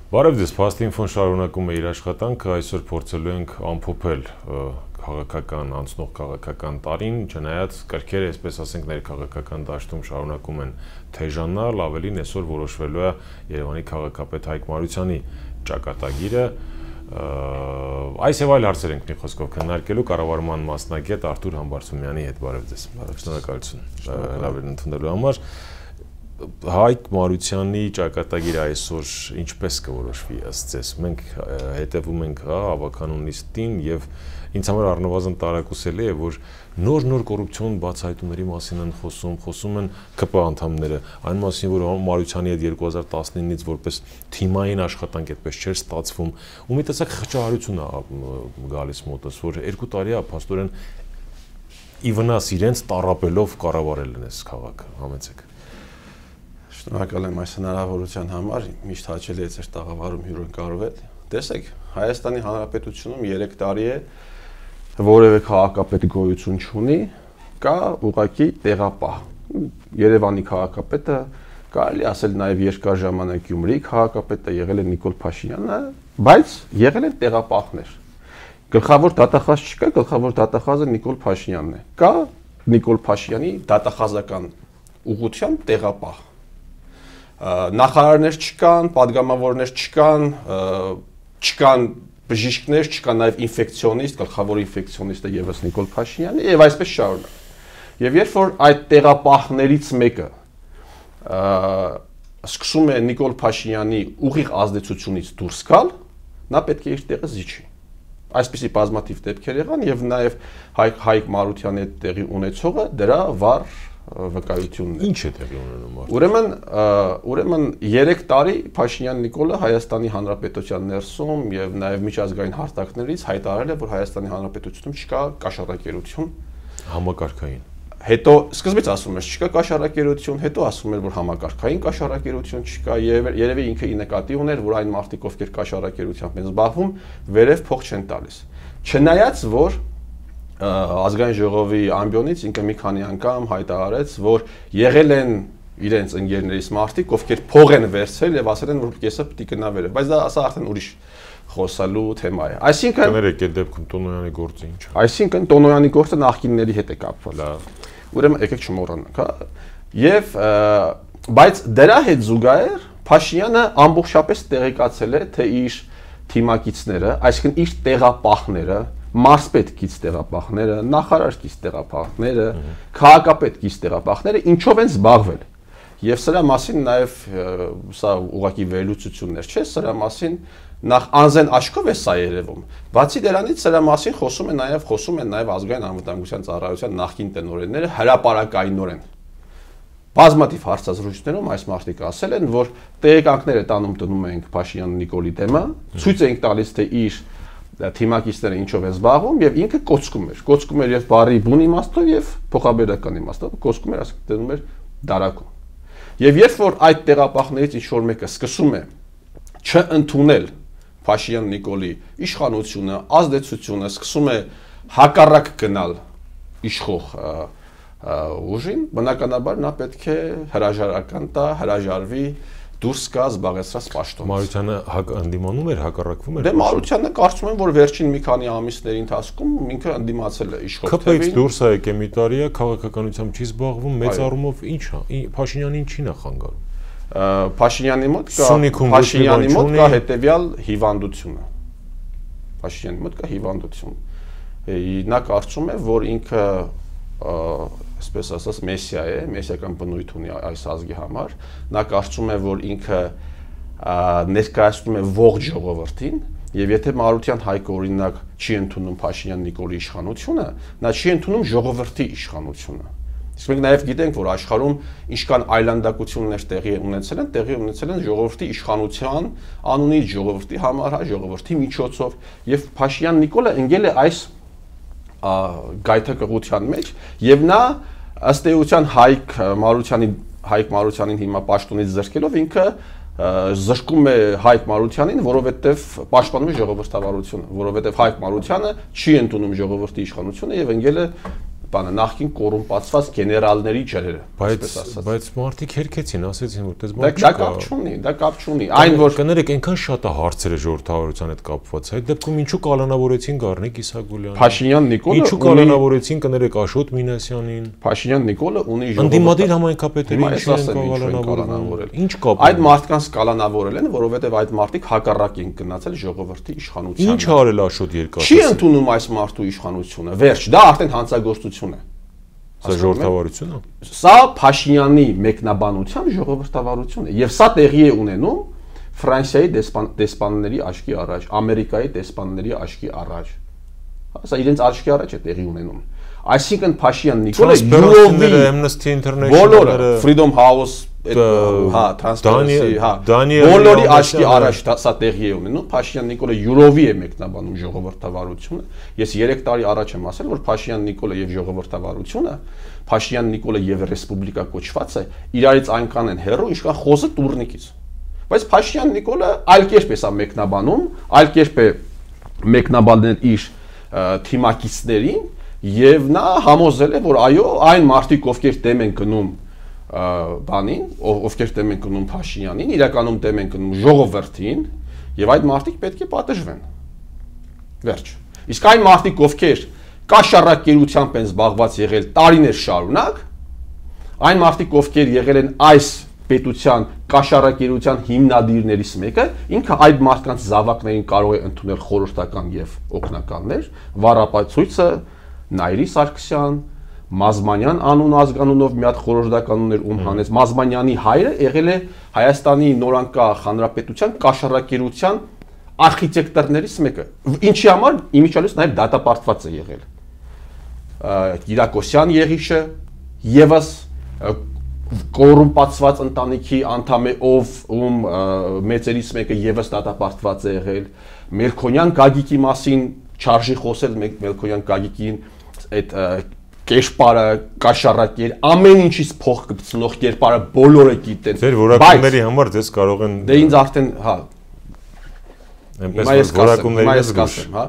Բարև ձեզ, Փաստինֆոն շարունակում է իր աշխատանքը, այսօր փորձելու ենք ամփոփել քաղաքական անցնող քաղաքական տարին, չնայած կրքերը, այսպես ասենք, ներքաղաքական դաշտում շարունակում են թեժանալ, ավելին այսօր որոշվելու է Երևանի քաղաքապետ Հայկ Մարությանի ճակատագիրը, այս եւ այլ հարցեր ենք մի խոսքով քննարկելու կառավարման մասնագետ Արթուր Համբարձումյանի հետ։ Բարև ձեզ։ Շնորհակալություն հրավերն ընդունելու համար։ Հայկ Մարությանի ճակատագիրը այսօր ինչպես կորոշվի ըստ ձեզ։ Մենք հետևում ենք ավականուն նիստին եւ ինձ համար առնվազն տարակուսելի է, որ նոր կոռուպցիոն բացահայտումների մասին են խոսում են ԿՊ անդամները, այն մասին, որ Մարությանի հետ 2019-ից որպես թիմային աշխատանք այդպես չէր ստացվում, ու մի տեսակ խճահարություն է գալիս մոտս, որ 2 տարի է փաստորեն ի վնաս իրենց տառապելով կառավարել են այս քաղաքը, համեցեք։ Շնորհակալ եմ այս հնարավորության համար, միշտ հաճելի է ձեր տաղավարում հյուրընկալվել։ Տեսեք, Հայաստանի Հանրապետությունում 3 տարի է որևէ քաղաքապետ գոյություն չունի, կա ուղղակի տեղապահ։ Երևանի քաղաքապետը կարելի ասել նաև երկար ժամանակ Գյումրիի քաղաքապետը եղել է Նիկոլ Փաշինյանը, բայց եղել են տեղապահներ։ Գլխավոր դատախազ չկա, գլխավոր դատախազը Նիկոլ Փաշինյանն է։ Կա Նիկոլ Փաշինյանի դատախազական ուղղությամբ տեղապահ։ Նախարարներ չկան, падգամավորներ չկան բժիշկներ, չկան նաև ինֆեկցիոնիստ, գլխավոր ինֆեկցիոնիստը եւս Նիկոլ Փաշինյանը եւ այսպես շարունակ։ Եվ երբ որ այդ տեղապահներից մեկը սկսում է Նիկոլ Փաշինյանի ուղիղ ազդեցությունից դուրս գալ, նա պետք է իր տեղը զիջի։ Այսպիսի բազմաթիվ դեպքեր եղան եւ նաեւ Հայկ Մարությանի հետ տեղի ունեցողը դրա վառ վկայությունն է։ Ինչ է տեղի ունենում։ Ուրեմն 3 տարի Փաշինյան Նիկոլը Հայաստանի Հանրապետության ներսում եւ նաեւ միջազգային հարթակներից հայտարարել է, որ Հայաստանի Հանրապետությունում չկա կաշառակերություն համակարգային։ Հետո սկզբից ասում էր չկա կաշառակերություն, հետո ասում էր, որ համակարգային կաշառակերություն չկա, երևի ինքը ի նկատի ուներ, որ այն մարդիկ, ովքեր կաշառակերությամբ են զբաղվում, վերև փող չեն տալիս։ Չնայած որ ազգային ժողովի ամբիոնից ինքը մի քանի անգամ հայտարարեց, որ եղել են իրենց ընկերներից մարդիկ, ովքեր փող են վերցրել եւ ասել են, որ կեսը պիտի գնա վերև, բայց դա ասա արդեն ուրիշ խոսալու թեմա է։ Այսինքն կներեք այդ դեպքում Տոնոյանի գործը ինչ է։ Այսինքն Տոնոյանի գործը նախկինների հետ է կապված։ Ուրեմն եկեք չմոռանանք, հա։ Եվ բայց դրա հետ զուգահեռ Փաշինյանը ամբողջապես տեղեկացել է, թե իր թիմակիցները, այսինքն իր տեղապահները, մարզպետ կից տեղապահները, նախարար կից տեղապահները, քաղաքապետ կից տեղապահները ինչով են զբաղվել։ Եվ սրա մասին նաև սա ուղղակի վերլուծություններ չէ, սրա մասին նախ անզեն աչքով է սա երևում։ Բացի դրանից սրա մասին խոսում են նաև ազգային անվտանգության ծառայության նախկին տնօրենները հրապարակայնորեն։ Բազմաթիվ հարցազրույցներում այս մարդիկ ասել են, որ տեղեկանքները տանում ենք Փաշինյան Նիկոլի դեմը, ցույց ենք տալիս, թե իր թիմակիցները ինչով են զբաղվում եւ ինքը կոծկում էր եւ բարի բուն իմաստով եւ փոխաբերական իմաստով կոծկում էր, ասենք դնում էր դարակում։ Եվ երբ որ այդ տեղապահներից ինչ որ մեկը սկսում է չընդունել Փաշինյան Նիկոլի իշխանությունը, ազդեցությունը, սկսում է հակառակ գնալ իշխող ուժին, բնականաբար նա պետք է հրաժարական տա, հրաժարվի դուրս գա զբաղեցրած պաշտոնից։ Մարությանը ընդդիմանում էր, հակառակվում էր։ Դե Մարությանը կարծում եմ, որ վերջին մի քանի ամիսների ընթացքում ինքը ընդդիմացել է իշխող թևին։ ԿՊ-ից դուրս է եկել մի տարի է, քաղաքականությամբ չի զբաղվում, մեծ առումով ինչ է, Փաշինյանին ինչին է խանգարում։ Փաշինյանի մոտ կա հետևյալ հիվանդությունը։ Փաշինյանի մոտ կա հիվանդություն։ Նա կարծում է, որ ինքը այսպես ասած մեսիա է, մեսիական բնույթ ունի այս ազգի համար, նա կարծում է, որ ինքը ներկայացնում է ողջ ժողովրդին, եւ եթե Մարության Հայկը օրինակ չի ընդունում Փաշինյան Նիկոլի իշխանությունը, նա չի ընդունում ժողովրդի իշխանությունը։ Իսկ մենք նաեւ գիտենք, որ աշխարհում ինչքան այլանդակություններ տեղի ունեցել են ժողովրդի իշխանության անունից, ժողովրդի համար, ժողովրդի միջոցով, եւ Փաշինյան Նիկոլը ընկել է այս գայթակղության մեջ եւ նա ըստ էության Հայկ Մարությանին հիմա պաշտոնից զրկելով ինքը զրկում է Հայկ Մարությանին, որովհետեւ պաշտպանում է ժողովրդավարությունը, որովհետեւ Հայկ Մարությանը չի ընդունում ժողովրդի իշխանությունը եւ ընկել է բանը նախքին կոռումպացված գեներալների ջրերը, այսպես ասած։ Բայց մարդիկ հերքեցին, ասեցին, որ դες բան չկա։ Դա կապ չունի։ Այն որ կներեք, այնքան շատ է հարցերը ժողովրդավարության հետ կապված։ Այդ դեպքում ինչու կալանավորեցին Գառնիկ Իսագուլյանին։ Փաշինյան Նիկոլը ինչու կալանավորեցին, կներեք, Աշոտ Մինասյանին։ Փաշինյան Նիկոլը ունի ընդդիմադիր համայնքապետերը ինչու են կալանավորել։ Ինչ կապ։ Այդ մարդկանց կալանավորել են, որովհետև այդ մարդիկ հակառակ են գնացել ժողովրդի իշխանությանը։ Ինչ արել Աշոտ Երկաթը։ Չի ընդունում այս մարդու իշխանությունը։ Վերջ, դա արդեն հանցագործություն է։ Սա ժողովրդավարություն է։ Սա Փաշինյանի մեկնաբանությամբ ժողովրդավարություն է, եւ սա տեղի է ունենում Ֆրանսիայի դեսպանների աչքի առաջ, Ամերիկայի դեսպանների աչքի առաջ։ Սա իրենց աչքի առաջ է տեղի ունենում։ Այսինքն Փաշինյան Նիկոլը յուրովի Amnesty International-ը, Freedom House, հա, Transparency, հա, բոլորի աչքի առաջ սա տեղի է ունենում։ Փաշինյան Նիկոլը յուրովի է մեկնաբանում ժողովրդավարությունը։ Ես 3 տարի առաջ եմ ասել, որ Փաշինյան Նիկոլը եւ ժողովրդավարությունը, Փաշինյան Նիկոլը եւ ռեսպուբլիկա կոչվածը իրարից այնքան են հեռու, ինչքան խոզը տուրնիկից։ Բայց Փաշինյան Նիկոլը այլ կերպ է սա մեկնաբանում, այլ կերպ է մեկնաբանել իր թիմակիցներին եւ նա համոզել է, որ այո, այն մարդիկ, ովքեր դեմ են գնում բանին, ովքեր դեմ են գնում Փաշինյանին, իրականում դեմ են գնում ժողովրդին եւ այդ մարդիկ պետք է պատժվեն։ Վերջ։ Իսկ այն մարդիկ, ովքեր կաշառակերությամբ են զբաղված եղել տարիներ շարունակ, այն մարդիկ, ովքեր եղել են այս պետության կաշառակերության հիմնադիրներից մեկը, ինքը այդ մարդկանց զավակներին կարող է ընդունել խորհրդական եւ օգնականներ, վառապացույցը Նայիրի Սարգսյան, Մազմանյան անուն ազգանունով մի հատ խորհրդական ուներ ում հանեց։ Մազմանյանի հայրը եղել է Հայաստանի նորանկախ հանրապետության կաշառակերության արխիտեկտորներից մեկը։ Ինչի համար իմիջիալից նաև դատապարտված է եղել։ Կիրակոսյան Եղիշը եւս կոռումպացված ընտանիքի անդամ է, ում մեծերից մեկը եւս դատապարտված է եղել։ Մելքոնյան Գագիկի մասին չարժի խոսել, Մելքոնյան Գագիկին այդ կերպարը, կաշառակեր, ամեն ինչից փող կպցնող կերպարը բոլորը գիտեն։ Ձեր որակումների համար դες կարող են դե ինձ արդեն, հա, այնպես որ որակումների զգուշ, հա։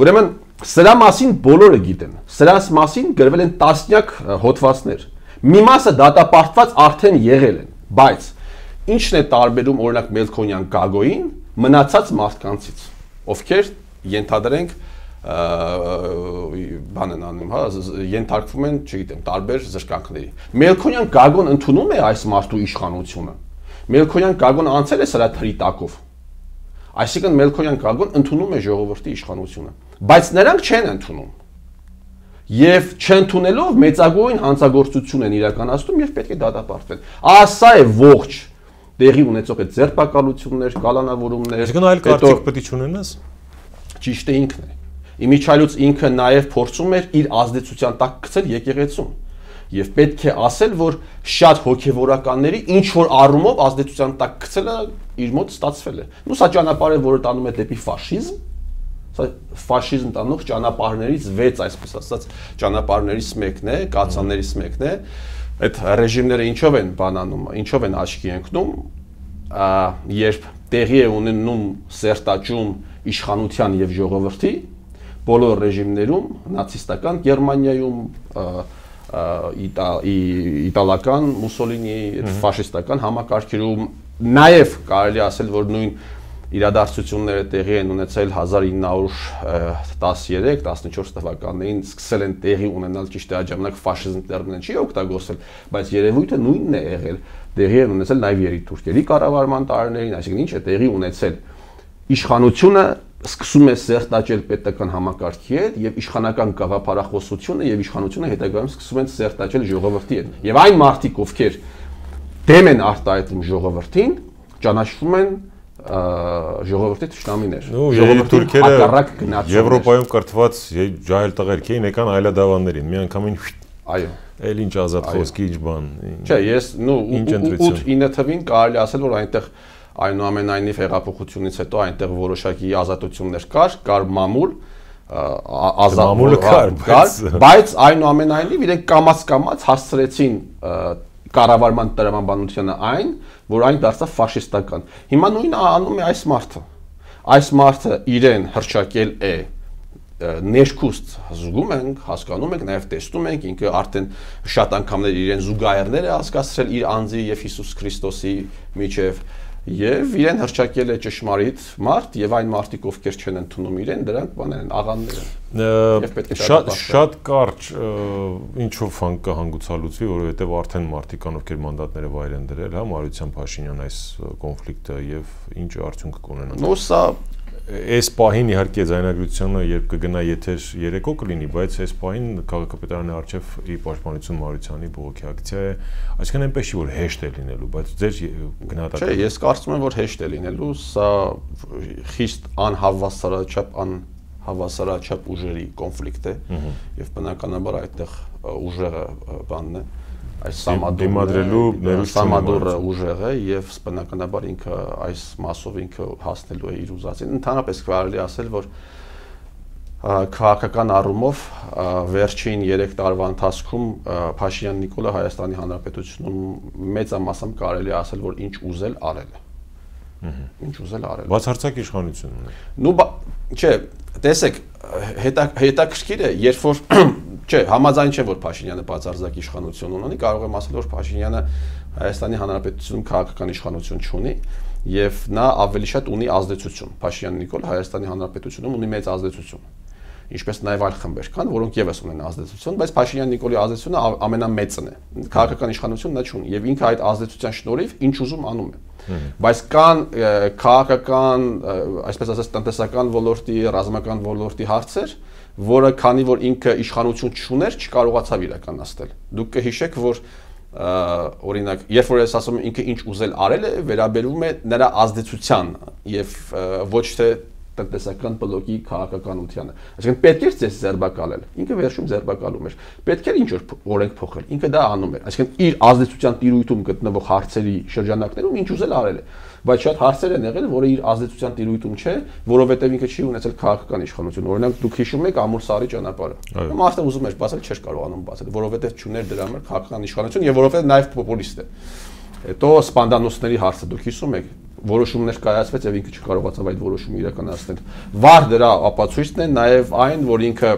Ուրեմն սրա մասին բոլորը գիտեն։ Սրաս մասին գրվել են տասնյակ հոդվածներ։ Մի մասը դատապարտված արդեն եղել են, բայց ինչն է տարբերում օրինակ Մելքոնյան Գագոյին մնացած մարդկանցից, ովքեր ենթադրենք բան են անում, հա, ենթարկվում են, չգիտեմ, տարբեր զրկանքների։ Մելքոնյան Գագոն ընդունում է այս մարդու իշխանությունը։ Մելքոնյան Գագոն անցել է սրա թրի տակով։ Այսինքն Մելքոնյան Գագոն ընդունում է ժողովրդի իշխանությունը, բայց նրանք չեն ընդունում։ Եվ չընդունելով մեծագույն հանցագործություն են իրականացնում եւ պետք է դատապարտվեն։ Սա է ողջ տեղի ունեցող այդ ձերբակալություններ, կալանավորումներ։ Այսինքն այլ կարծիք պետք է չունենաս։ Ճիշտ է ինքն է։ Իմիջիալուց ինքը նաև փորձում էր իր ազդեցության տակ գցել եկեղեցուն։ Եվ պետք է ասել, որ շատ հոգևորականների ինչ որ առումով ազդեցության տակ գցելը իր մոտ ստացվել է։ Ու սա ճանապարհ է, որը տանում է դեպի ֆաշիզմ։ Սա ֆաշիզմ տանող ճանապարհներից 6, այսպես ասած, ճանապարհներից մեկն է, կացաններից մեկն է։ Այդ ռեժիմները ինչով են բանանում, ինչով են աչքի ընկնում, երբ տեղի է ունենում սերտաճում իշխանության եւ ժողովրդի բոլոր ռեժիմներում, նացիստական Գերմանիայում, իտալական Մուսոլինիի ֆաշիստական համակարգերում, նաև կարելի ասել, որ նույն իրադարձությունները տեղի են ունեցել 1913-14 թվականներին, սկսել են տեղի ունենալ, ճիշտ է, այդ ժամանակ ֆաշիզմ տերմինը չի օգտագործել, բայց երևույթը նույնն է եղել, տեղի են ունեցել նաև երիտուրքերի կառավարման տարիներին, այսինքն ինչ է տեղի ունեցել, իշխանությունը սկսում է սերտաճել պետական համակարգի հետ եւ իշխանական գաղափարախոսությունը եւ իշխանությունը հետագայում սկսում են սերտաճել ժողովրդի հետ եւ այն մարդիկ, ովքեր դեմ են արտահայտում ժողովրդին, ճանաչվում են ժողովրդի թշնամիներ։ Երիտուրքերը Եվրոպայում կրթված ջահել տղերք էին, եկան այլադավաններին, միանգամին այո, էլ ինչ ազատ խոսքի, ինչ բան։ Չէ, ես 8-9 թվին կարելի ասել, որ այնտեղ այնուամենայնիվ հեղափոխությունից հետո այնտեղ որոշակի ազատություններ կար մամուլ, մամուլը կար, բայց այնուամենայնիվ իրենք կամաց հասցրեցին կառավարման տրամաբանությանը այն, որ այն դարձավ ֆաշիստական։ Հիմա նույնը անում է այս մարդը։ Այս մարդը իրեն հռչակել է ներքուստ զգում ենք, հասկանում ենք, նաև տեսնում ենք, ինքը արդեն շատ անգամներ իրեն զուգահեռներ է հասկացրել իր անձի եւ Հիսուս Քրիստոսի միջև եւ իրեն հրճակել է ճշմարիտ մարդ եւ այն մարդիկ, ովքեր չեն ընդունում իրեն, դրանք բաներ են, աղաններ են։ Շատ կարճ ինչով կհանգուցալուծվի, որովհետեւ արդեն մարդիկ կան, ովքեր մանդատները վայր են դրել, հա, Մարության Փաշինյան այս կոնֆլիկտը եւ ինչ արդյունք կունենա։ Նո սա Այս պահին իհարկե ձայնագրությունը երբ կգնա եթեր երեկո կլինի, բայց այս պահին քաղաքապետարանի առջև իր պաշտպանություն Մարությանի բողոքի ակցիա է, այսինքն այնպես չի որ հեշտ է լինելու, բայց ձեր գնահատականը։ Չէ, ես կարծում եմ որ հեշտ է լինելու, սա խիստ անհավասարաչափ ուժերի կոնֆլիկտ է եւ բնականաբար այդտեղ ուժերը բանն է այս Սամադուրը ուժեղ է եւ բնականաբար ինքը այս մասով ինքը հասնելու է իր ուզածին։ Ընդհանրապես կարելի ասել, որ քաղաքական առումով վերջին 3 տարվա ընթացքում Փաշինյան Նիկոլը Հայաստանի Հանրապետությունում մեծամասամբ կարելի ասել, որ ինչ ուզել արել է։ Ինչ ուզել արել։ Բացարձակ իշխանություն ունի։ Նու չէ, տեսեք, հետաքրքիր է, երբ որ չէ, համաձայն չեմ, որ Փաշինյանը բացարձակ իշխանություն ունի, կարող եմ ասել, որ Փաշինյանը Հայաստանի Հանրապետությունում քաղաքական իշխանություն չունի եւ նա ավելի շատ ունի ազդեցություն։ Փաշինյան Նիկոլ Հայաստանի Հանրապետությունում ունի մեծ ազդեցություն։ Ինչպես նաև այլ խմբեր կան, որոնք եւս ունեն ազդեցություն, բայց Փաշինյան Նիկոլի ազդեցությունը ամենամեծն է։ Քաղաքական իշխանություն նա չունի եւ ինքը այդ ազդեցության շնորհիվ ինչ ուզում անում է։ Բայց կան քաղաքական, այսպես ասած, տնտեսական ոլորտի, ռազմական ոլորտի հարցեր, որը քանի որ ինքը իշխանություն չուներ, չկարողացավ իրականացնել։ Դուք կհիշեք, որ օրինակ, երբ որ ես ասում եմ ինքը ինչ ուզել արել է, վերաբերում է նրա ազդեցության եւ ոչ թե տնտեսական բլոկի քաղաքականությանը։ Այսինքն պետք է ձեզ ձերբակալել։ Ինքը վերջում ձերբակալում էր։ Պետք է ինչ որ օրենք փոխել։ Ինքը դա անում էր։ Այսինքն իր ազդեցության տիրույթում գտնվող հարցերի շրջանակներում ինչ ուզել արել է։ Բայց շատ հարցեր են եղել, որը իր ազդեցության տիրույթում չէ, որովհետև ինքը չի ունեցել քաղաքական իշխանություն։ Օրինակ դուք հիշում եք Ամուր Սարի ճանապարհը։ Մարդը ուզում էր բացել, չէր կարողանում բացել, որովհետև չուներ դրա համար քաղաքական իշխանություն եւ որովհետև նաեւ պոպուլիստ է։ Հետո Սպանդանոսների հարցը դուք հիշում եք, որոշումներ կայացվեց եւ ինքը չկարողացավ այդ որոշումը իրականացնել։ Վառ դրա ապացույցն է նաեւ այն, որ ինքը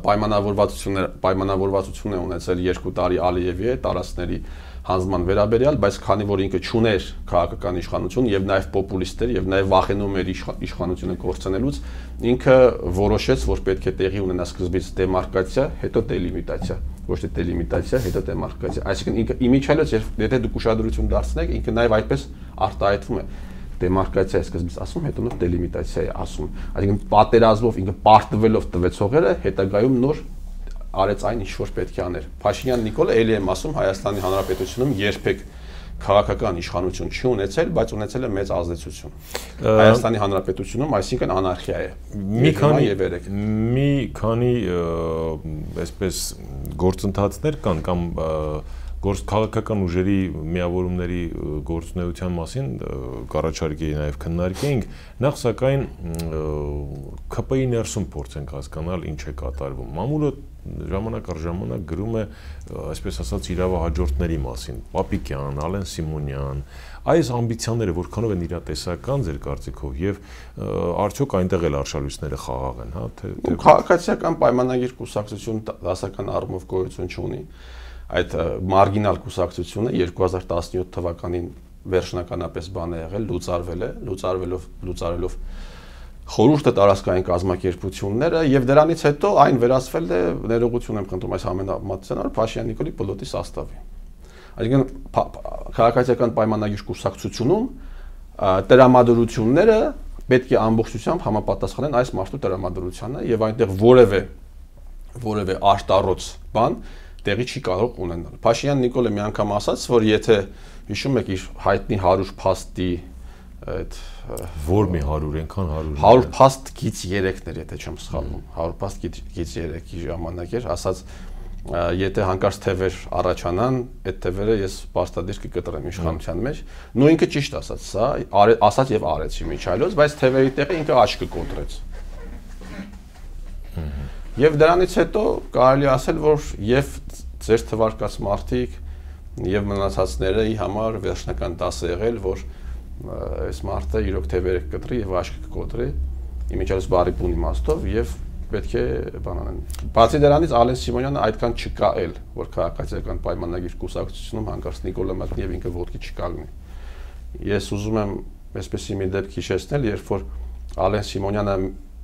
պայմանավորվածություն է ունեցել 2 տարի Ալիևի հետ տարածքների հանձնման վերաբերյալ, բայց քանի որ ինքը չուներ քաղաքական իշխանություն եւ նաեւ պոպուլիստ էր եւ նաեւ վախենում էր իշխանությունը կորցնելուց, ինքը որոշեց, որ պետք է տեղի ունենա սկզբից դեմարկացիա, հետո դելիմիտացիա, ոչ թե դելիմիտացիա, հետո դեմարկացիա։ Այսինքն ինքը իմիջիալից եթե դուք ուշադրություն դարձնեք, ինքը նաեւ այդպես արտահայտվում է։ Դեմարկացիա է սկզբից ասում, հետո նոր դելիմիտացիա է ասում։ Այսինքն պատերազմով ինքը պարտվելով տվեց հողերը, հետագայում նոր արեց այն ինչ որ պետք է աներ։ Փաշինյան Նիկոլը ելի եմ ասում Հայաստանի Հանրապետությունում երբեք քաղաքական իշխանություն չի ունեցել, բայց ունեցել է մեծ ազդեցություն։ Հայաստանի Հանրապետությունում, այսինքն անարխիա է։ Մի քանի այսպես գործընթացներ կան կամ քաղաքական ուժերի միավորումների գործունեության մասին կառաջարկեի նաև քննարկեինք, նախ սակայն ՔՊ-ի ներսում փորձենք հասկանալ ինչ է կատարվում։ Մամուլը ժամանակ առ ժամանակ գրում է, այսպես ասած, իրավահաջորդների մասին, Պապիկյան, Ալեն Սիմոնյան, այս ամբիցիաները որքանով են իրատեսական ձեր կարծիքով եւ արդյոք այնտեղ էլ արշալույսները խաղաղ են, հա, թե քաղաքացիական պայմանագիր կուսակցություն դասական առումով գոյություն չունի։ Այդ մարգինալ կուսակցությունը 2017 թվականին վերջնականապես բան է եղել, լուծարվելով խորհուրդը տարածքային կազմակերպությունները եւ դրանից հետո այն վերածվել է, ներողություն եմ խնդրում այս համեմատության, Փաշինյան Նիկոլի պլոտի սաստավի։ Այսինքն քաղաքացիական պայմանագիր կուսակցությունում տրամադրությունները պետք է ամբողջությամբ համապատասխանեն այս մարդու տրամադրությանը եւ այնտեղ որևէ արտառոց բան տեղի չի կարող ունենալ։ Փաշինյան Նիկոլը մի անգամ ասաց, որ եթե հիշում եք իր հայտնի 100 փաստի այդ որ մի 100 այնքան 100 փաստ գից 3-ներ, եթե չեմ սխալվում, 100 փաստ գից 3-ի ժամանակ էր, ասաց եթե հանկարծ թևեր առաջանան, այդ թևերը ես պարտադիր կկտրեմ իշխանության մեջ։ Նույն ինքը ճիշտ ասաց, սա ասաց եւ արեց իմիջիալոց, բայց թևերի տեղը ինքը աչքը կոտրեց։ Եվ դրանից հետո կարելի ասել, որ եւ ձեր թվարկած մարդիկ եւ մնացածների համար վերջնական դաս է եղել, որ այս մարդը իրոք թևերը կկտրի եւ աչքը կկոտրի իմիջիայլոց բարի բուն իմաստով եւ պետք է բան անեն։ Բացի դրանից Ալեն Սիմոնյանը այդքան չկա էլ, որ քաղաքացիական պայմանագիր կուսակցությունում հանկարծ Նիկոլա մատնի եւ ինքը ոդկի չկանգնի։ Ես ուզում եմ այսպեսի մի դեպք հիշեցնել, երբ որ Ալեն Սիմոնյանը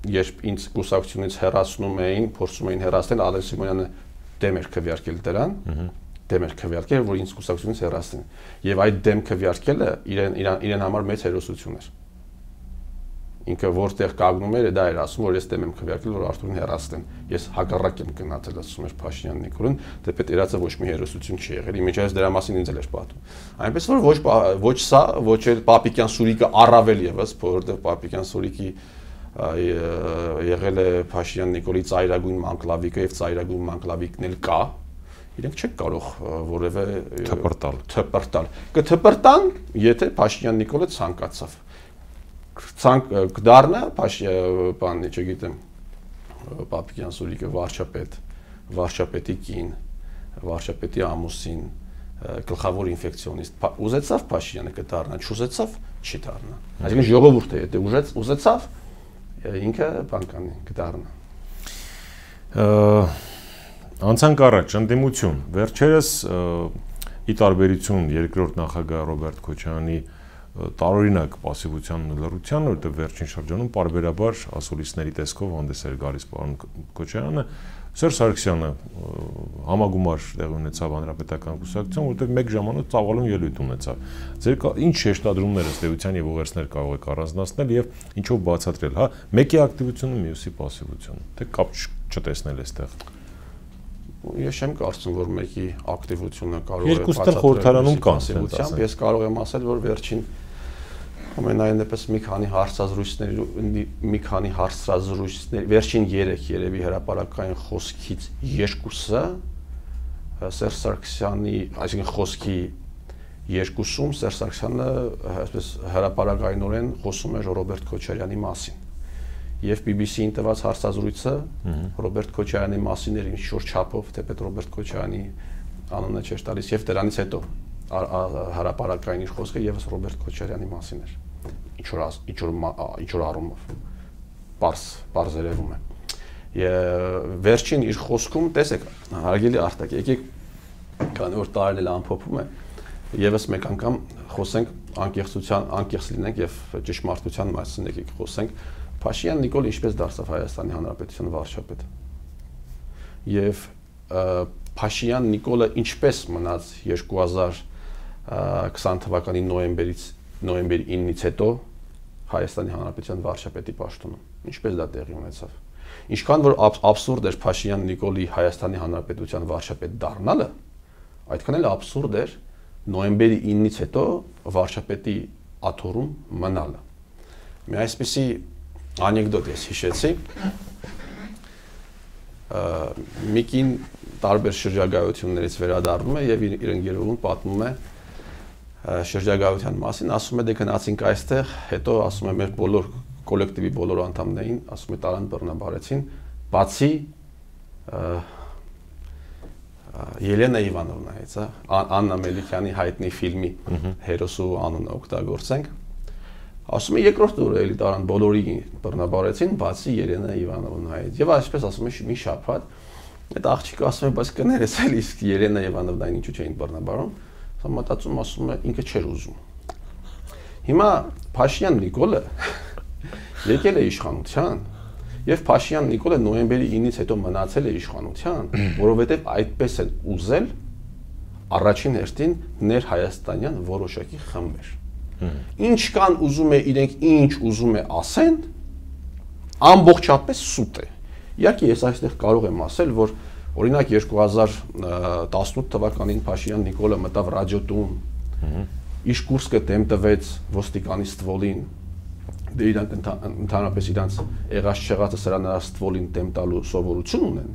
երբ ինձ կուսակցությունից հեռացնում էին, փորձում էին հեռացնել, Ալեն Սիմոնյանը դեմ էր քվեարկել դրան, դեմ էր քվեարկել, որ ինձ կուսակցությունից հեռացնեն։ Եվ այդ դեմ քվեարկելը իրեն համար մեծ հերոսություն էր։ Ինքը որտեղ կանգնում էր, դա էր ասում, որ ես դեմ եմ քվեարկել, որ Արթուրին հեռացնեն։ Ես հակառակ եմ գնացել, ասում էր Փաշինյան Նիկոլին, դեպի իրացը ոչ մի հերոսություն չի եղել։ Իմիջիայլոց դրա մասին ինձ էլ էր պատում։ Այնպես որ ոչ սա, ոչ էլ Պապիկյան Սուրիկը առավել եւս, որովհետեւ Պապիկյան Սուրիկի եղել է Փաշինյան Նիկոլի ծայրագույն մանկլավիկը եւ ծայրագույն մանկլավիկն էլ կա, իրենք չեն կարող որևէ թպրտալ։ Կթպրտան, եթե Փաշինյան Նիկոլը ցանկացավ։ Կդառնա բանի, չգիտեմ, Պապիկյան Սուրիկը վարչապետի կին, վարչապետի ամուսին, գլխավոր ինֆեկցիոնիստ։ Ուզեցավ Փաշինյանը կդառնա, չուզեցավ չի դառնա։ Այսինքն ժողովուրդը եթե ուզեցավ ինքը բան կանի կդառնա։ Անցանք առաջ ընդդիմություն։ Վերջերս ի տարբերություն երկրորդ նախագահ Ռոբերտ Քոչարյանի տարօրինակ պասիվության ու լռության, որտեղ վերջին շրջանում պարբերաբար ասուլիսների տեսքով հանդես էր գալիս պարոն Քոչարյանը, Սերժ Սարգսյանը համագումար տեղի ունեցավ հանրապետական կուսակցություն, որտեղ մեկ ժամանակ ծավալուն ելույթ ունեցավ։ Ձեր ինչ շեշտադրումներ ըստ էության եւ ուղերձներ կարող եք առանձնացնել եւ ինչով բացատրել, հա, մեկի ակտիվությունը, մյուսի պասիվությունը, թե կապ չտեսնել այստեղ։ Ես չեմ կարծում, որ մեկի ակտիվությունը կարող է բացատրել խորհրդարանում կան պասիվությամբ։ Ես կարող եմ ասել, որ վերջին ամենայնպես մի քանի հարցազրույցներ, վերջին 3 երևի հրապարակային խոսքից երկուսը Սերժ Սարգսյանի, այսինքն խոսքի երկուսում Սերժ Սարգսյանը այսպես հրապարակայնորեն խոսում էր Ռոբերտ Քոչարյանի մասին։ Եվ BBC-ին տված հարցազրույցը Ռոբերտ Քոչարյանի մասին էր ինչ-որ չափով, թեպետ Ռոբերտ Քոչարյանի անունը չէր տալիս, եւ դրանից հետո հրապարակային իր խոսքը եւս Ռոբերտ Քոչարյանի մասին էր։ Ինչ-որ առումով բարձրերևում է։ Վերջին իր խոսքում, տեսեք, հարգելի Արտակ, եկեք, քանի որ տարին էլ ամփոփում է, եւս մեկ անգամ խոսենք անկեղծ լինենք եւ ճշմարտության մասին եկեք խոսենք։ Փաշինյան Նիկոլը ինչպես դարձավ Հայաստանի Հանրապետության վարչապետ։ Եվ Փաշինյան Նիկոլը ինչպես մնաց 2020 թվականի նոյեմբերի 9-ից հետո Հայաստանի Հանրապետության վարչապետի պաշտոնում։ Ինչպես դա տեղի ունեցավ։ Ինչքան որ աբսուրդ էր Փաշինյան Նիկոլի Հայաստանի Հանրապետության վարչապետ դառնալը, այդքան էլ աբսուրդ էր նոյեմբերի 9-ից հետո վարչապետի աթոռում մնալը։ Մի այսպիսի անեկդոտ ես հիշեցի։ Միկին տարբեր շրջագայություններից վերադառնում է եւ իր ընկերուհուն պատմում է շրջագայության մասին, ասում է դե գնացինք այստեղ, հետո ասում է մեր բոլոր կոլեկտիվի բոլոր անդամներին, ասում է տարան բռնաբարեցին, բացի Ելենա Իվանովնայից, Աննա Մելիքյանի հայտնի ֆիլմի հերոսու անունը օգտագործենք։ Ասում է երկրորդ օրը էլի տարան բոլորի բռնաբարեցին, բացի Ելենա Իվանովնայից։ Եվ այսպես ասում է մի շաբաթ, այդ աղջիկը ասում է, բայց կներես էլ իսկ Ելենա Իվանովնային ինչու չէին բռնաբարում, ասում մտածում ասում է ինքը չէր ուզում։ Հիմա Փաշինյան Նիկոլը եկել է իշխանության, եւ Փաշինյան Նիկոլը նոյեմբերի 9-ից հետո մնացել է իշխանության, որովհետեւ այդպես են ուզել առաջին հերթին ներհայաստանյան որոշակի խմբեր։ Ինչքան ուզում է իրենք ինչ ուզում է ասեն, ամբողջապես սուտ է։ Իհարկե ես այստեղ կարող եմ ասել, որ օրինակ 2018 թվականին Փաշինյան Նիկոլը մտավ ռադիոտուն, իր կուրսը դեմ տվեց ոստիկանի ստվոլին, դե իրանք ընդհանրապես իրանք եղած չեղածը սրա նրա ստվոլին դեմ տալու սովորություն ունեն։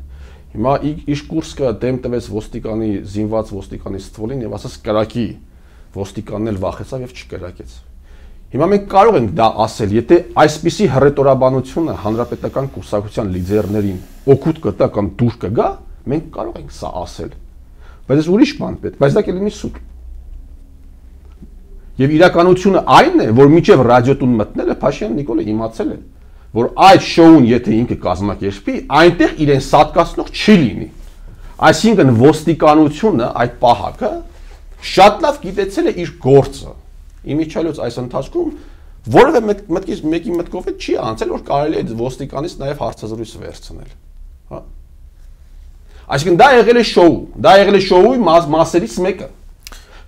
Հիմա իր կուրսը դեմ տվեց ոստիկանի զինված ոստիկանի ստվոլին եւ ասաց կրակի ոստիկանն էլ վախեցավ եւ չկրակեց։ Հիմա մենք կարող ենք դա ասել, եթե այսպիսի հռետորաբանությունը հանրապետական կուսակցության լիդերներին օգուտ կտա կամ դուր կգա, մենք կարող ենք սա ասել։ Բայց ես ուրիշ բան պետք, բայց դա կլինի սուտ։ Եվ իրականությունը այն է, որ մինչև ռադիոտուն մտնելը Փաշինյան Նիկոլը իմացել է, որ այդ շոուն եթե ինքը կազմակերպի, այնտեղ իրեն սատկացնող չի լինի։ Այսինքն ոստիկանությունը այդ պահակը շատ լավ գիտեցել է իր գործը։ Իմիջիայլոց այս ընթացքում որևէ մեկի մտքով չի անցել, որ կարելի է ոստիկանից նաև հարցազրույց վերցնել, հա։ Այսինքն դա եղել է շոու, դա եղել է շոուի մասերից մեկը։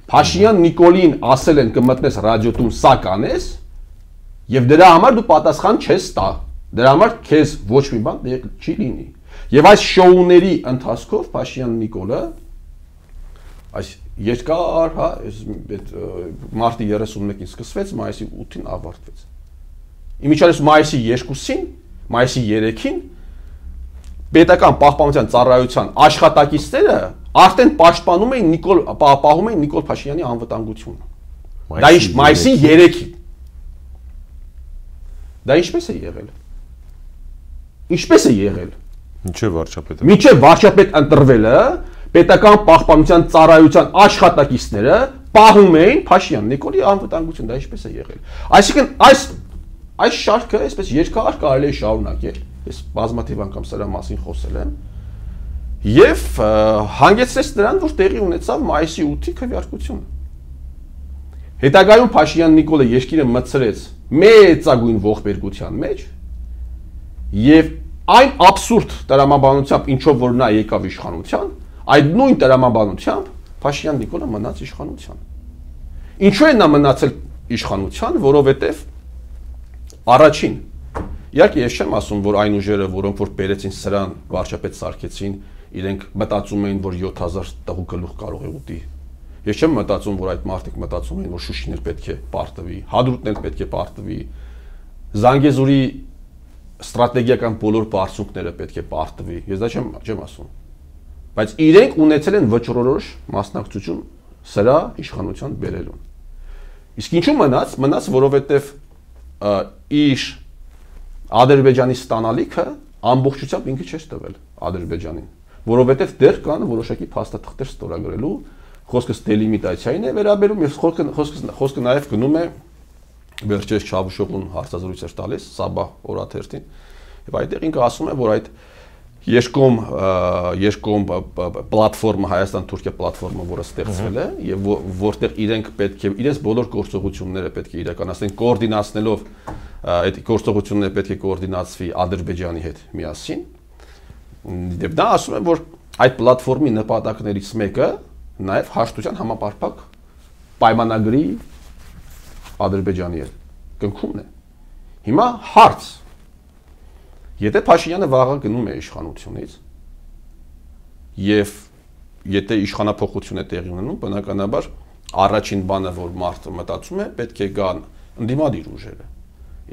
Փաշինյան Նիկոլին ասել են կմտնես ռադիոտուն սա կանես, եւ դրա համար դու պատասխան չես տա։ Դրա համար քեզ ոչ մի բան չի լինի։ Եվ այս շոուների ընթացքով Փաշինյան Նիկոլը այս երկար, հա, այդ մարտի 31-ին սկսվեց, մայիսի 8-ին ավարտվեց։ Իմիջիայլոց մայիսի 2-ին, մայիսի 3-ին պետական պահպանության ծառայության աշխատակիցները արդեն պաշտպանում էին պահում էին Նիկոլ Փաշինյանի անվտանգությունը։ Դա մայիսի 3-ին։ Դա ինչպես է եղել։ Ինչպես է եղել։ Մինչև վարչապետ ընտրվելը պետական պահպանության ծառայության աշխատակիցները պահում էին Փաշինյան Նիկոլի անվտանգություն, դա ինչպես է եղել։ Այսինքն այս շարքը այսպես երկար կարելի է շարունակել։ Ես բազմաթիվ անգամ սրա մասին խոսել եմ։ Եվ հանգեցրեց նրան, որ տեղի ունեցավ մայիսի 8-ի քվեարկությունը։ Հետագայում Փաշինյան Նիկոլը երկիրը մտցրեց մեծագույն ողբերգության մեջ եւ այն աբսուրդ տրամաբանությամբ, ինչով որ նա եկավ իշխանության, այդ նույն տրամաբանությամբ Փաշինյան Նիկոլը մնաց իշխանության։ Ինչու է նա մնացել իշխանության, որովհետև առաջին, իհարկե ես չեմ ասում, որ այն ուժերը, որոնք որ բերեցին սրան, վարչապետ սարքեցին, իրենք մտածում էին, որ 7000 տղու գլուխ կարող է ուտի։ Ես չեմ մտածում, որ այդ մարդիկ մտածում էին, որ Շուշին էլ պետք է պարտվի, Հադրութն էլ պետք է պարտվի, Զանգեզուրի ստրատեգիական բոլոր բարձունքները պետք է պարտվի։ Ես դա չեմ ասում։ Բայց իրենք ունեցել են վճռորոշ մասնակցություն սրա իշխանության բերելուն։ Իսկ ինչու մնաց, որովհետև իր Ադրբեջանի ստանալիքը ամբողջությամբ ինքը չէր տվել Ադրբեջանին, որովհետև դեռ կան որոշակի փաստաթղթեր ստորագրելու, խոսքս դելիմիտացիային է վերաբերում, եւ խոսքը նաև գնում է վերջերս Չավուշօղլուն հարցազրույց էր տալիս Սաբահ օրաթերթին, եւ այդտեղ ինքը ասում է, որ այդ երկկողմ պլատֆորմը Հայաստան-Թուրքիա պլատֆորմը, որը ստեղծվել է եւ որտեղ իրենք պետք է իրենց բոլոր գործողությունները պետք է իրականացնեն կոորդինացնելով այդ գործողությունները պետք է կոորդինացվի Ադրբեջանի հետ միասին։ Եվ դա ասում է, որ այդ պլատֆորմի նպատակներից մեկը նաեւ հաշտության համապարփակ պայմանագրի Ադրբեջանի հետ կնքումն է։ Հիմա հարց. Եթե Փաշինյանը վաղը գնում է իշխանությունից եւ եթե իշխանափոխություն է տեղի ունենում, բնականաբար առաջին բանը, որ մարդը մտածում է, պետք է գան ընդդիմադիր ուժերը։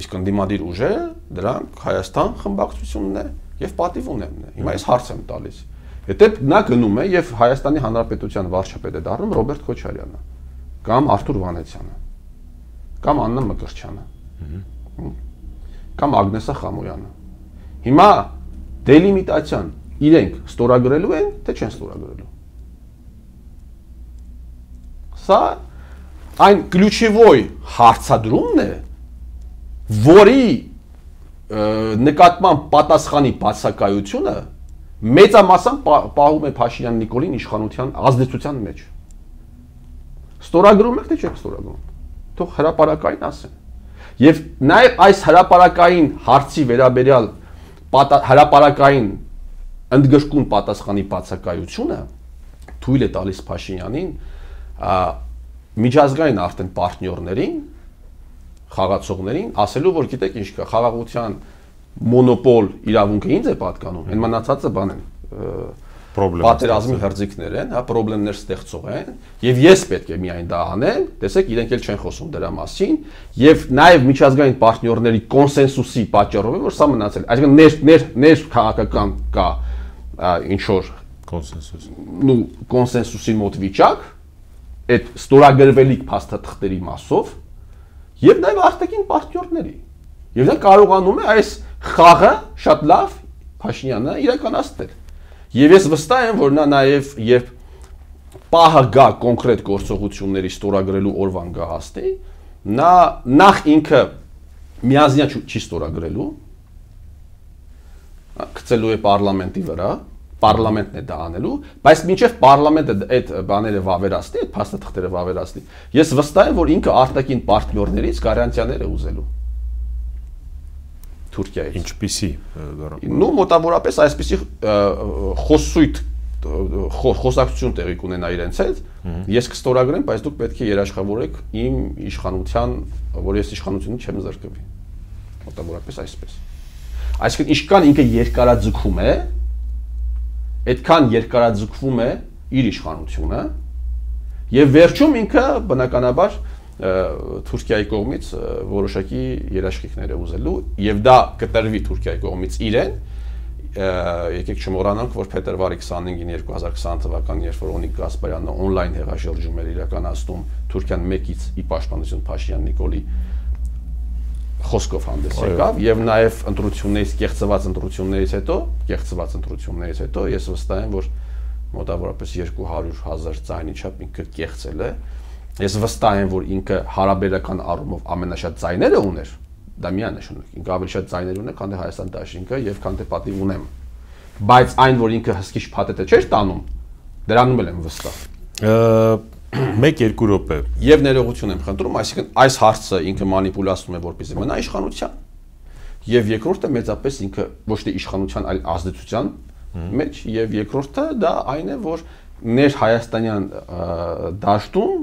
Իսկ ընդդիմադիր ուժերը դրանք Հայաստան խմբակցությունն է եւ պատիվունենն է։ Հիմա ես հարց եմ տալիս։ Եթե նա գնում է եւ Հայաստանի Հանրապետության վարչապետ է դառնում Ռոբերտ Քոչարյանը կամ Արթուր Վանեցյանը կամ Աննա Մկրտչյանը կամ Ագնեսա Խամոյանը։ Հիմա դելիմիտացիան իրենք ստորագրելու են, թե չեն ստորագրելու։ Սա այն ключевой հարցադրումն է, որի նկատմամբ պատասխանի բացակայությունը մեծամասամբ պահում է Փաշինյան Նիկոլին իշխանության ազդեցության մեջ։ Ստորագրում եք, թե չեք ստորագրում։ Թող հրապարակային ասեն։ Եվ նաև այս հրապարակային հարցի վերաբերյալ հրապարակային ընդգրկուն պատասխանի բացակայությունը թույլ է տալիս Փաշինյանին միջազգային արդեն պարտներներին, խաղացողներին ասելու, որ գիտեք ինչ կա, խաղաղության մոնոպոլ իրավունքը ինձ է պատկանում, այն մնացածը բան են, պատերազմի հրձիկներ են, հա, պրոբլեմներ ստեղծող են, եւ ես պետք է միայն դա անեմ, տեսեք, իրենք էլ չեն խոսում դրա մասին, եւ նաեւ միջազգային պարտներների կոնսենսուսի պատճառով է, որ սա մնացել է։ Այսինքն ներ քաղաքական կա ինչ որ կոնսենսուս։ Նու կոնսենսուսի մոտ վիճակ, այդ ստորագրվելիք փաստաթղթերի մասով եւ նաեւ արտաքին պարտներների։ Եվ դա կարողանում է այս խաղը շատ լավ Փաշինյանը իրականացնել։ Եվ ես վստահ եմ, որ նա նաև երբ պահը գա կոնկրետ գործողությունների ստորագրելու օրվան գա հասնի, նա նախ ինքը միազնյա չի ստորագրելու, գցելու է parlamenti վրա, parlamentin է դա անելու, բայց մինչև parlamenti այդ բաները վավերացնի, այդ փաստաթղթերը վավերացնի, ես վստահ եմ, որ ինքը արտաքին պարտներներից գարանտիաներ է ուզելու Թուրքիայից։ Ինչպիսի նու մոտավորապես այսպիսի խոսույթ խոսակցություն տեղի կունենա իրենց հետ, ես կստորագրեմ, բայց դուք պետք է երաշխավորեք իմ իշխանության, որ ես իշխանությունից չեմ զրկվի։ Մոտավորապես այսպես։ Այսինքն ինչքան ինքը երկարաձգում է, այդքան երկարաձգվում է իր իշխանությունը, եւ վերջում ինքը բնականաբար Թուրքիայի կողմից որոշակի երաշխիքներ է ուզելու, եւ դա կտրվի Թուրքիայի կողմից իրեն։ Եկեք չմոռանանք, որ փետրվարի 25-ին 2020 թվականին, երբ որ Օնիկ Գասպարյանը on-line հեղաշրջում էր իրականացնում Թուրքիան 1-ից ի պաշտպանություն Փաշինյան Նիկոլի խոսքով հանդես եկավ եւ նաեւ կեղծված ընտրություններից հետո ես վստահ եմ, որ մոտավորապես 200,000 ձայնի չափ ինքը կեղծել է։ Ես վստահ եմ, որ ինքը հարաբերական առումով ամենաշատ ձայները ուներ, դա միանշանակ ինքը ավելի շատ ձայներ ուներ, քան թե Հայաստան դաշինքը եւ քան թե պատիվ ունեմ, բայց այն, որ ինքը հսկիչ փաթեթը չէր տանում, դրանում եմ վստահ։ 1-2 րոպե եւ ներողություն եմ խնդրում, այսինքն այս հարցը ինքը մանիպուլացնում է, որպեսզի մնա իշխանության, եւ երկրորդը մեծապես ինքը ոչ թե իշխանության, այլ ազդեցության մեջ, եւ երկրորդը դա այն է, որ ներ հայաստանյան դաշտում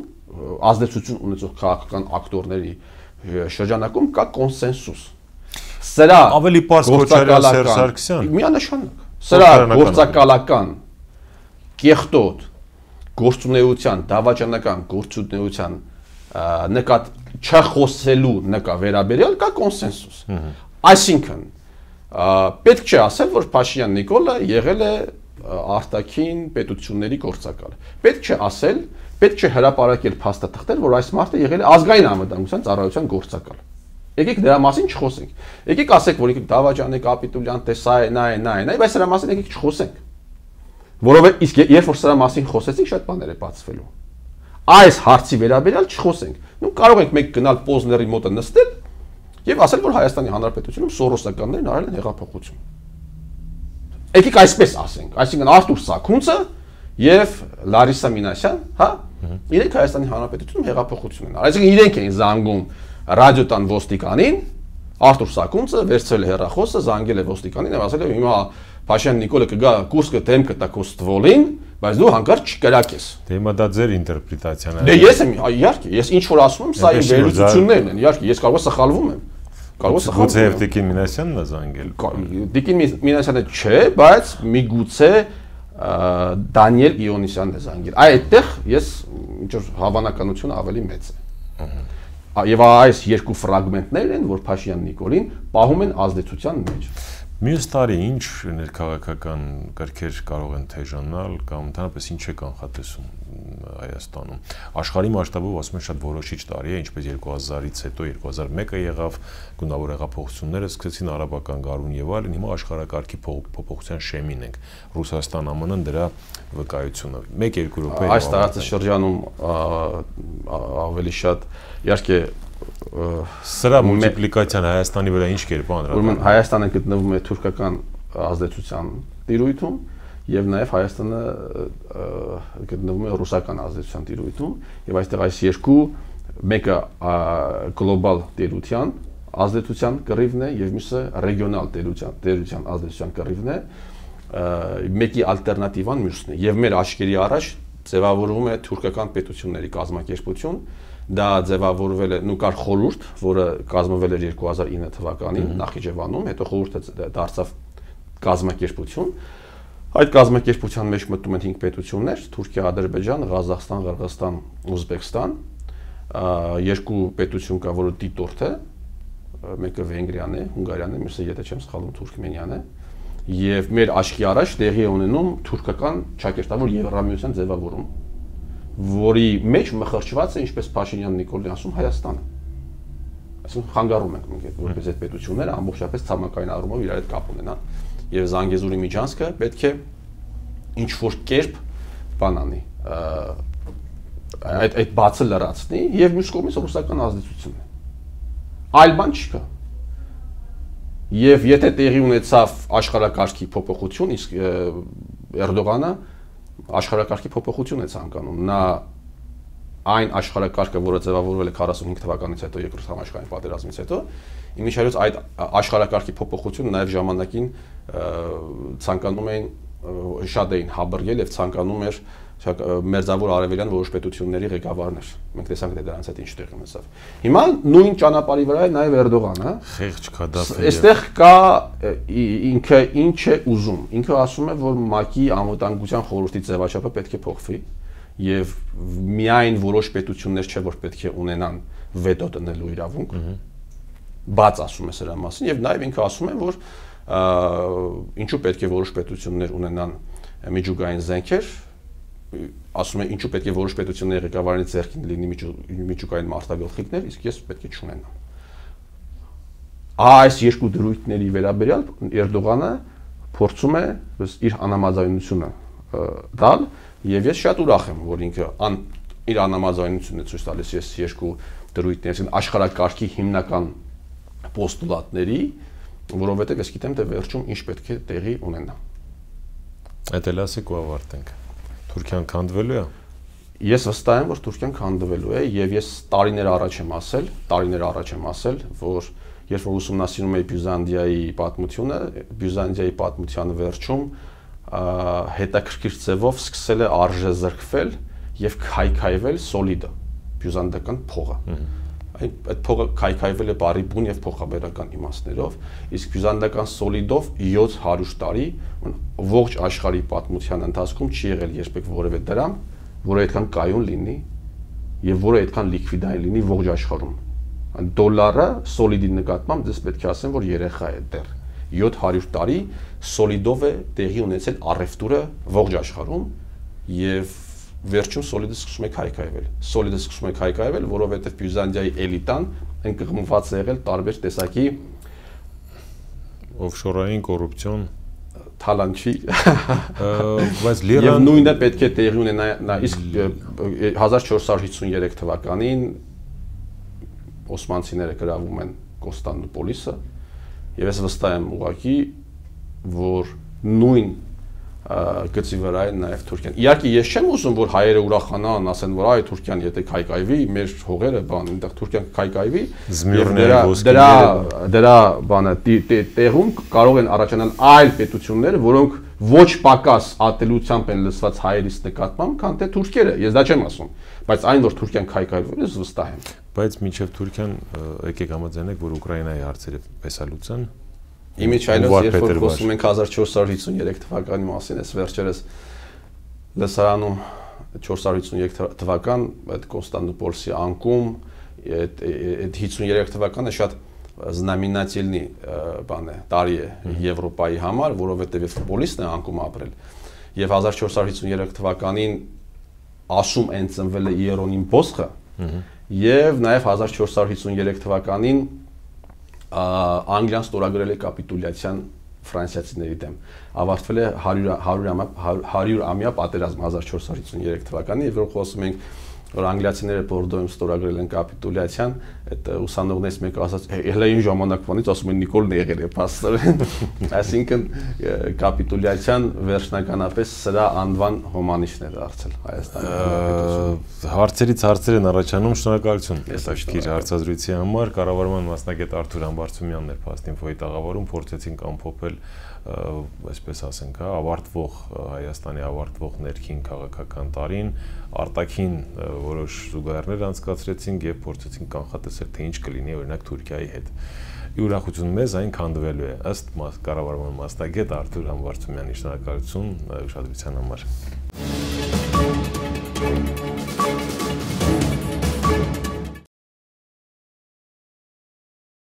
ազդեցություն ունեցող քաղաքական ակտորների շրջանակում կա կոնսենսուս։ Սրա ավելի պարզ Քոչարյան Սերժ Սարգսյան միանշանակ։ Սրա գործակալական կեղտոտ գործունեության, դավաճանական գործունեության նկատ չխոսելու նկա վերաբերյալ կա կոնսենսուս։ Այսինքն պետք չէ ասել, որ Փաշինյան Նիկոլը եղել է արտաքին պետությունների գործակալ։ Պետք չէ ասել, պետք չէ հրապարակել փաստաթղթեր, որ այս մարդը եղել է ազգային անվտանգության ծառայության գործակալ։ Եկեք դրա մասին չխոսենք։ Եկեք ասեք, որ ինքը դավաճան է, կապիտուլյանտ է, սա է, նա է, բայց սրա մասին եկեք չխոսենք։ Որովհետեւ իսկ երբ որ սրա մասին խոսեցինք, շատ բաներ է բացվելու։ Այս հարցի վերաբերյալ չխոսենք։ Նու կարող ենք մենք գնալ Պոզների մոտը նստել եւ ասել, որ Հայաստանի Հանրապետությունում սորոսականներն արել են հեղափոխություն։ Եկեք այսպես ասենք, այսինքն Արտուր Սաքունցը եւ Լարիսա Մինասյան, հա, իրենք Հայաստանի Հանրապետությունում հեղափոխություն են արել։ Այսինքն իրենք էին զանգում ռադիոտան ոստիկանին, Արտուր Սաքունցը վերցրել է հեռախոսը, զանգել է ոստիկանին եւ ասել է հիմա Փաշյան Նիկոլը կգա կուրսկը դեմ կտա քո ստվոլին, բայց դու հանկարծ չկրակես։ Դե հիմա դա ձեր ինտերպրետացիան է։ Դե ես եմ, իհարկե, ես ինչ որ ասում եմ, սա իմ վերլուծություններն են, իհարկե, ես կարող եմ սխալվում եմ։ Գուցե եւ Տիկին Մինասյանն է զանգել։ Տիկին Մինասյանը չէ, բայց միգուցե Դանիել Իոնիսյանն է զանգել։ Այդտեղ ես ինչ որ հավանականությունը ավելի մեծ է։ Եվ այս երկու ֆրագմենտներ են, որ Փաշինյան Նիկոլին պահում են ազդեցության մեջ։ Մյուս տարի ինչ ներքաղաքական կրքեր կարող են թեժանալ կամ ընդհանրապես ինչ է կանխատեսում Հայաստանում։ Աշխարհի մասշտաբով ասում են շատ որոշիչ տարի է, ինչպես 2000-ից հետո 2001-ը եղավ, գունավոր հեղափոխությունները սկսեցին արաբական գարուն եւ այլն, հիմա աշխարհակարգի փոփոխության շեմին ենք։ Ռուսաստան, ԱՄՆ-ն դրա վկայությունը 1-2 րոպե։ Այս տարածաշրջանում ավելի շատ իհարկե սրա մուլտիպլիկացիան Հայաստանի վրա ինչ կերպ անր։ Ուրեմն Հայաստանը գտնվում է թուրքական ազդեցության տիրույթում եւ նաեւ Հայաստանը գտնվում է ռուսական ազդեցության տիրույթում եւ այստեղ այս երկու մեկը գլոբալ տերության ազդեցության կռիվն է եւ մյուսը ռեգիոնալ տերության ազդեցության կռիվն է, մեկի ալտերնատիվան մյուսն է եւ մեր աչքերի առաջ ձևավորվում է թուրքական պետությունների կազմակերպություն, դա ձևավորվել է, նու կար խորհուրդ, որը կազմվել էր 2009 թվականին Նախիջևանում, հետո խորհուրդը դարձավ կազմակերպություն։ Այդ կազմակերպության մեջ մտնում են 5 պետություններ՝ Թուրքիա, Ադրբեջան, Ղազախստան, Ղրղստան, Ուզբեկստան, երկու պետություն կա, որը դիտորդ է, մեկը Վենգրիան է, Հունգարիան է, մյուսը, եթե չեմ սխալվում, Թուրքմենիան է, եւ մեր աչքի առաջ տեղի է ունենում թուրքական ճակերտավոր Եվրամիության ձևավորում, որի մեջ մխրճված է, ինչպես Փաշինյան Նիկոլին ասում, Հայաստանը։ Այսինքն խանգարում ենք մենք որպես այդ պետությունները ամբողջապես ցամաքային առումով իրար հետ կապ ունենան եւ Զանգեզուրի միջանցքը պետք է ինչ որ կերպ բան անի, այդ բացը լրացնի եւ մյուս կողմից ռուսական ազդեցությունն է։ Այլ բան չկա։ Եվ եթե տեղի ունեցավ աշխարհակարգի փոփոխություն, իսկ Էրդողանը աշխարհակարգի փոփոխություն է ցանկանում։ Նա այն աշխարհակարգը, որը ձևավորվել է 45 թվականից հետո, երկրորդ համաշխարհային պատերազմից հետո, իմիջիայլոց այդ աշխարհակարգի փոփոխությունը նաև ժամանակին ցանկանում էին շատ էին հաբռգել եւ ցանկանում էր մերձավոր արևելյան որոշ պետությունների ղեկավարներ։ Մենք տեսանք թե դրանց հետ ինչ տեղի ունեցավ։ Հիմա նույն ճանապարհի վրա է նաև Էրդողանը։ Խեղճ Քադաֆին։ Այստեղ կա ինքը ինչ է ուզում։ Ինքը ասում է, որ ՄԱԿ-ի անվտանգության խորհրդի ձևաչափը պետք է փոխվի եւ միայն որոշ պետություններ չէ որ պետք է ունենան վետո տնելու իրավունք։ Բաց ասում է սրա մասին եւ նաեւ ինքը ասում է, որ ինչու պետք է որոշ պետություններ ունենան միջուկային զենքեր, ասում է ինչու պետք է որոշ պետությունների ղեկավարների ձեռքին լինի միջուկային մարտագլխիկներ, իսկ ես պետք է չունենամ։ Այս երկու դրույթների վերաբերյալ Էրդողանը փորձում է իր անհամաձայնությունը տալ եւ ես շատ ուրախ եմ, որ ինքը իր անհամաձայնությունն է ցույց տալիս ես երկու դրույթների, աշխարհակարգի հիմնական պոստուլատների, որովհետեւ ես գիտեմ թե վերջում ինչ պետք է տեղի ունենա։ Այդ էլ ասեք ու ավարտենք։ Թուրքիան քանդվելու է։ Ես վստահ եմ, որ Թուրքիան քանդվելու է եւ ես տարիներ առաջ եմ ասել, որ երբ որ ուսումնասիրում էի Բյուզանդիայի պատմության վերջում հետաքրքիր ձևով սկսել է արժեզրկվել եւ քայքայվել սոլիդը, բյուզանդական փողը։ Այդ փողը քայքայվել է բարի բուն եւ փոխաբերական իմաստներով, իսկ բյուզանդական սոլիդով 700 տարի ողջ աշխարհի պատմության ընթացքում չի եղել երբեք որևէ դրամ, որը այդքան կայուն լինի եւ որը այդքան լիկվիդային լինի ողջ աշխարհում։ Դոլարը սոլիդի նկատմամբ դες պետք է ասեմ, որ երեխա է դեռ 700 տարի սոլիդով է տեղի ունեցել առևտուրը ողջ աշխարհում եւ վերջում սոլիդը սկսում է քայքայվել, որովհետեւ Բյուզանդիայի էլիտան ընկղմված է եղել տարբեր տեսակի օֆշորային կոռուպցիոն թալանչի բայց լիռան եւ նույնը պետք է տեղի ունենա իսկ 1453 թվականին օսմանցիները գրավում են Կոստանդնուպոլիսը եւ ես վստահ եմ ուղղակի որ նույն գծի վրա է նաեւ Թուրքիան։ Իհարկե ես չեմ ուզում որ հայերը ուրախանան, ասեն որ այ Թուրքիան եթե քայքայվի, մեր հողերը բան, այնտեղ Թուրքիան քայքայվի, դրա բանը տեղում կարող են առաջանալ այլ պետություններ, որոնք ոչ պակաս ատելությամբ են լսված հայերից նկատմամբ, քան թե թուրքերը։ Ես դա չեմ ասում, բայց այն որ Թուրքիան քայքայվի, ես վստահ եմ։ Բայց մինչև Թուրքիան եկեք համաձայնենք, որ Ուկրաինայի հարցերը եսալուծեն։ Իմիջիայլոց երբ որ խոսում ենք 1453 թվականի մասին, ես վերջերս լսարանում 453 թվական այդ Կոստանդնուպոլսի անկում այդ 53 թվականը շատ զնամինատիլնի բան է, տարի է Եվրոպայի համար, որովհետև ֆուտբոլիստն է անկում ապրել։ Եվ 1453 թվականին ասում են ծնվել է Իերոնիմ Բոսխը, եւ նաեւ 1453 թվականին Անգլիան ստորագրել է կապիտուլյացիան ֆրանսիացիների դեմ։ Ավարտվել է 100-ամյա պատերազմ 1453 թվականին, եւ որ խոսում ենք որ անգլիացիները Բորդոյում ստորագրել են կապիտուլյացիան, այդ ուսանողներից մեկը ասաց, հələ այն ժամանակվանից ասում են Նիկոլն եղել է փաստորեն։ Այսինքն կապիտուլյացիան վերջնականապես սրա անվան հոմանիշն է դարձել Հայաստանի։ Հարցերից հարցեր են առաջանում, շնորհակալություն հետաքրքիր հարցազրույցի համար։ Կառավարման մասնագետ Արթուր Ամբարձումյանն էր Փաստինֆոյի տաղավարում, փորձեցինք ամփոփել այսպես ասենք, ավարտվող Հայաստանի ավարտվող ներքին քաղաքական տարին, արտաքին որոշ զուգահեռներ անցկացրեցինք եւ փորձեցինք կանխատեսել թե ինչ կլինի օրինակ Թուրքիայի հետ։ Ուրախություն մեզ այն քանդվելու է ըստ կառավարման մասնագետ Արթուր Ամբարձումյանի, շնորհակալություն ուշադրության համար։